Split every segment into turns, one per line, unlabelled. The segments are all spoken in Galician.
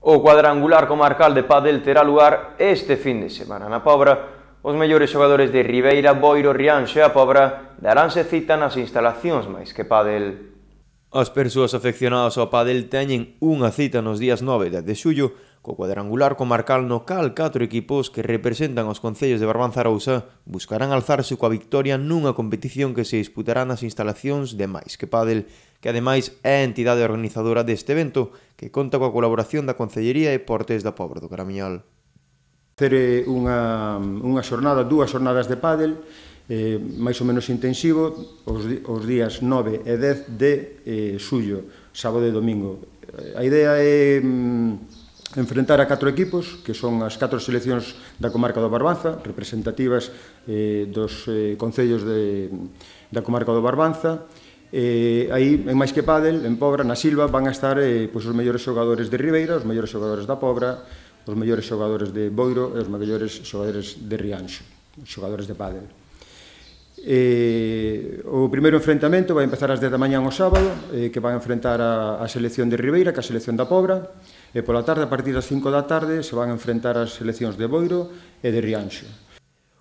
O cuadrangular comarcal de pádel terá lugar este fin de semana. Na Pobra, os mellores xogadores de Ribeira, Boiro, Rianxo e a Pobra daranse cita nas instalacións máis que pádel. As persoas afeccionadas ao pádel teñen unha cita nos días 9 e 10 de xullo co cuadrangular comarcal no cal 4 equipos que representan os concellos de Barbanza e Arousa buscarán alzarse coa victoria nunha competición que se disputará nas instalacións de Mais que Pádel, que ademais é a entidade organizadora deste evento, que conta coa colaboración da Concellería de Deportes da Pobra do Caramiñal.
Facer unha xornada, dúas xornadas de pádel, máis ou menos intensivo, os días 9 e 10 de xullo, sábado e domingo. A idea é enfrentar a 4 equipos, que son as 4 seleccións da comarca do Barbanza, representativas dos concellos da comarca do Barbanza. Aí, en Mais que Pádel, en Pobra, na Silva, van a estar os mellores xogadores de Ribeira, os mellores xogadores da Pobra, os mellores xogadores de Boiro e os mellores xogadores de Rianxo, os xogadores de pádel. O primeiro enfrentamento vai empezar ás 10 da mañá o sábado, que vai enfrentar a selección de Ribeira, que a selección da Pobra, e pola tarde, a partir das 5 da tarde, se van a enfrentar as seleccións de Boiro e de Rianxo.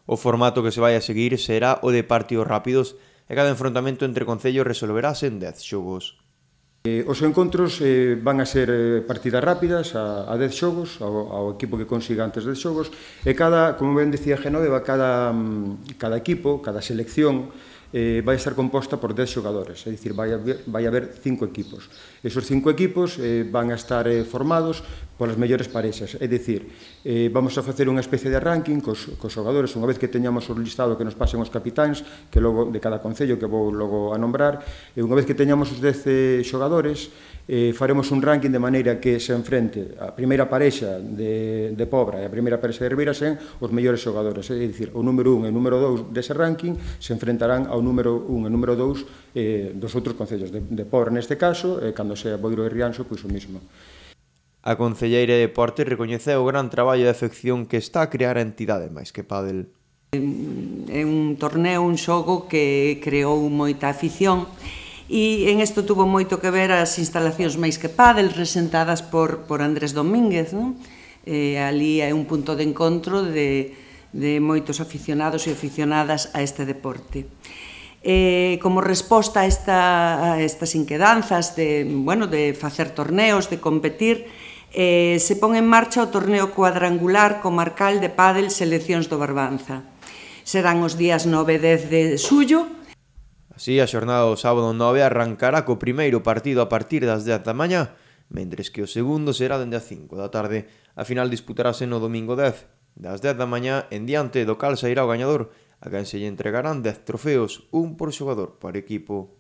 O formato que se vai a seguir será o de partidos rápidos e cada enfrontamento entre concellos resolverase en 10 xogos.
Os encontros van a ser partidas rápidas a 10 xogos, ao equipo que consiga antes 10 xogos, e cada, como ben dicía Genoveva, cada equipo, cada selección, vai estar composta por 10 xogadores, é dicir, vai haber 5 equipos. Esos 5 equipos van a estar formados polas mellores parexas, é dicir, vamos a facer unha especie de ranking cos xogadores, unha vez que teñamos o listado que nos pasen os capitáns, que logo de cada concello que vou logo a nombrar, e unha vez que teñamos os 10 xogadores, faremos un ranking de maneira que se enfrente a primeira parexa de Pobra e a primeira parexa de Ribeira sen os mellores xogadores, é dicir, o número 1 e o número 2 dese ranking se enfrentarán ao número 1 e número 2 dos outros concellos de Pobra neste caso, e cando sea Boiro e Rianxo, pois o mismo.
A Concelleira de Deportes recoñeceu o gran traballo de afección que está a crear a entidade Mais que Pádel.
É un torneo, un xogo que creou moita afición e en isto tuvo moito que ver as instalacións Mais que Pádel presentadas por Andrés Domínguez, non? Ali é un punto de encontro de moitos aficionados e aficionadas a este deporte. Como resposta a estas inquedanzas de facer torneos, de competir, se pon en marcha o torneo cuadrangular comarcal de pádel seleccións do Barbanza. Serán os días 9 e 10 de xullo.
Así, a xornada do sábado 9 arrancará co primeiro partido a partir das 10 da mañá, mentres que o segundo será dende as 5 da tarde. A final disputarase no domingo 10, das 10 da mañá en diante do cal sairá o gañador, a quen se lle entregarán 10 trofeos, un por xogador por equipo.